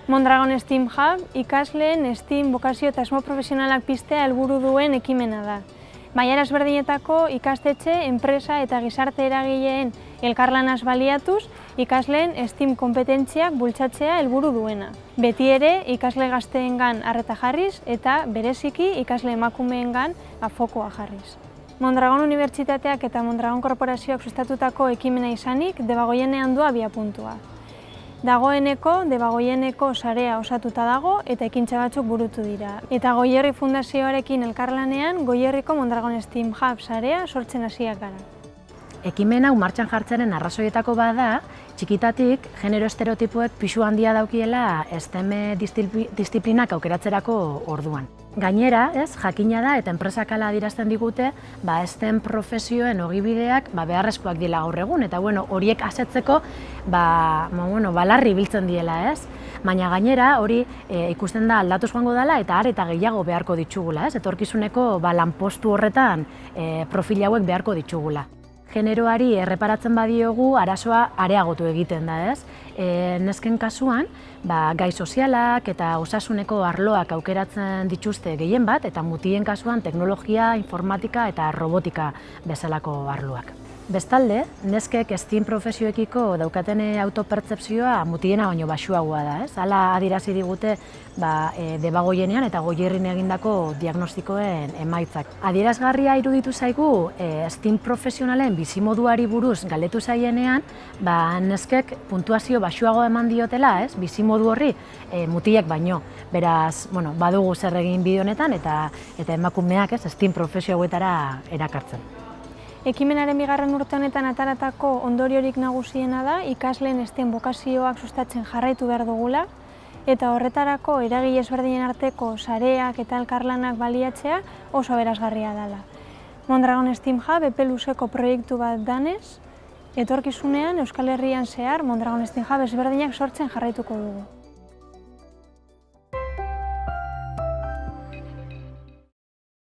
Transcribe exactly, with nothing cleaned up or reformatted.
Mondragon STEAM Hub ikasleen STEAM bokazio eta asmo profesionalak piztea helburu duen ekimena da. Mailara ezberdinetako ikastetxe, enpresa eta gizarte eragileen elkarlanaz baliatuz, ikasleen STEAM konpetentziak bultzatzea helburu duena. Beti ere, ikasle gazteengan arreta jarriz eta bereziki ikasle emakumeengan fokoa jarriz. Mondragon Unibertsitateak eta Mondragon Korporazioak sustatutako ekimena izanik, Debagoienean du abiapuntua. Dagoeneko, Debagoieneko sarea osatuta dago eta ekintza batzuk burutu dira. Eta Goierri Fundazioarekin elkarlanean, Goierriko Mondragon STEAM Hub sarea sortzen hasiak gara. Ekimen hau martxan jartzaren arrazoietako bada, txikitatik genero estereotipoek pisu handia daukiela STEM disiplinak aukeratzerako orduan. Gainera, ez, jakina da eta enpresak hala adierazten digute, ba, STEM profesioen ogibideak ba, beharrezkoak dira gaur egun, eta bueno, horiek asetzeko ba, bueno, balarri biltzen diela, ez? Baina gainera hori e, ikusten da aldatuz joango dela eta are eta gehiago beharko ditugula, ez? Etorkizuneko ba, lanpostu horretan e, profil hauek beharko ditugula. Generoari erreparatzen badiogu arazoa areagotu egiten da, ez? E, nesken kasuan, ba, gai sozialak eta osasuneko arloak aukeratzen dituzte gehien bat, eta mutien kasuan teknologia, informatika eta robotika bezalako arloak. Bestalde, neskek STEAM profesioekiko daukaten autopertzepzioa mutiena baino baxuagoa da, ez? Hala adierazi digute ba, e, Debagoienean eta Goierrin egindako diagnostikoen emaitzak. Adierazgarria iruditu zaigu e, STEAM profesionalen bizimoduari buruz galdetu zaienean, ba, neskek puntuazio baxuago eman diotela, ez? Bizimodu horri e, mutilak baino. Beraz, bueno, badugu zer egin bide honetan eta, eta emakumeak, ez, STEAM profesio hauetara erakartzen. Ekimenaren bigarren urte honetan ataratako ondoriorik nagusiena da ikasleen STEM bokazioak sustatzen jarraitu behar dugula eta horretarako eragile ezberdinen arteko sareak eta elkarlanak baliatzea oso aberasgarria dela. Mondragon STEAM Hub epe luzeko proiektu bat danez, etorkizunean Euskal Herrian zehar Mondragon STEAM Hub ezberdinak sortzen jarraituko dugu.